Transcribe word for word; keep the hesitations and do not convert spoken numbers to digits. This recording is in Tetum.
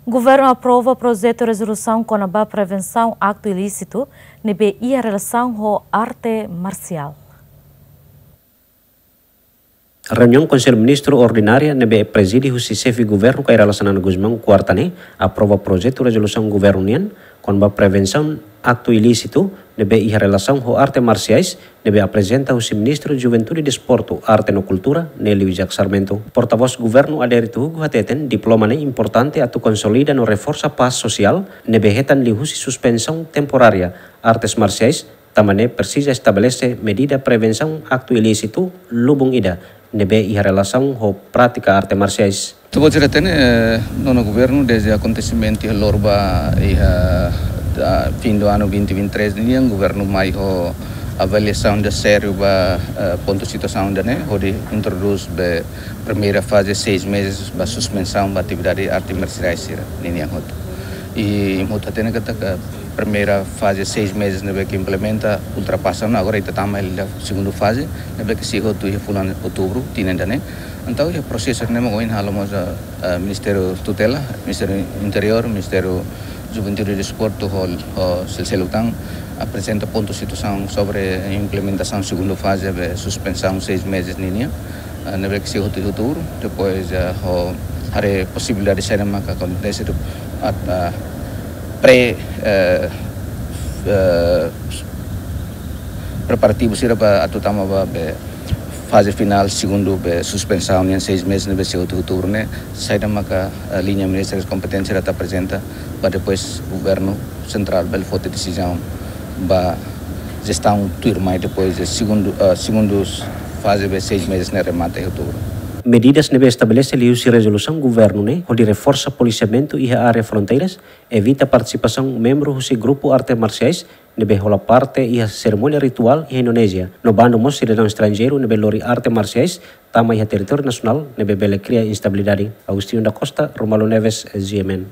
Governu aprova projetu rezolusaun kona-ba prevensaun aktu ilísitu ne'ebé iha relasaun ho arte marsiál. Reuniaun Konsellu Ministru Ordinária ne'ebé prezide husi Xefe Governu Kay Rala Xanana Gusmão, kuarta ne'e, aprova projetu rezolusaun governu nian kona-ba prevensaun aktu ilísitu ne'ebé iha relasaun ho arte marsiais, ne'ebé aprezenta husi Ministru Juventude, Desportu, Arte no Kultura, Nelly Wijak Sarmento. Portavós Governu Adérito Hugo hateten diploma ne'e importante atu konsolida no reforsa pás sosiál ne'ebé hetan liuhusi suspensaun temporária artes marsiais, tanba ne'e presiza estabelese medida prevensaun aktu ilísitu lubun ida ne'ebé iha relasaun ho prátika arte marsiais. Atu bele hatene, eh, nonu governu dezde akontesimentu iha Lorba iha, ah, fin do ano vinte vinte e três nian, governu mai ho avaliasaun ida sériu ba, eh, pontu situasaun ida-ne'e, hodi introdús be primeira faze seis meses ba suspensaun ba atividade arte marsiais sira ninian hotu. I imi hotu hatene katak primeira faze seis meses ne'ebé ke implementa ultrapasa ona, agora ita tama iha segundu faze, ne'ebé ke sei hotu iha fulan Outubru tinan ida-ne'e. Entaun iha prosesu ne'e mak ohin halo mós, eh, Ministériu Tutela, Ministériu Interiór, Ministériu Juventude, Desportu, ho, ho sel-seluk tan aprezenta pontu situasaun sobre implementasaun segundu faze be suspensaun seis meses ninian, eh, ne'ebé ke sei hotu iha Outubru, depois, eh, ho haree posibilidade saida maka akontese do at, ah, pre, eh, eh, preparativu sira ba atu tama ba be faze finál segundu be suspensaun nian seis meses ne'ebé sei hotu iha Outubru ne'e, saida maka, eh, liña ministériu kompetente sira atu aprezenta ba depois governu sentrál bele foti desizaun ba jestaun tuirmai depois de segundu, eh, segundu faze be seis meses ne'e remata iha Outubru. Medidas ne'ebé estabelese liuhusi rezolusaun governu ne'e hodi reforsa polisiamentu iha área fronteiras, evita partisipasaun membru husi grupu arte marsiais ne'ebé hola parte iha serimónia rituál iha Indonézia, no bandu mós sidadaun estranjeiru ne'ebé lori arte marsiais tama iha territóriu nasionál ne'ebé bele kria instabilidade. Agostinho da Costa, Romualdo Neves, G M N.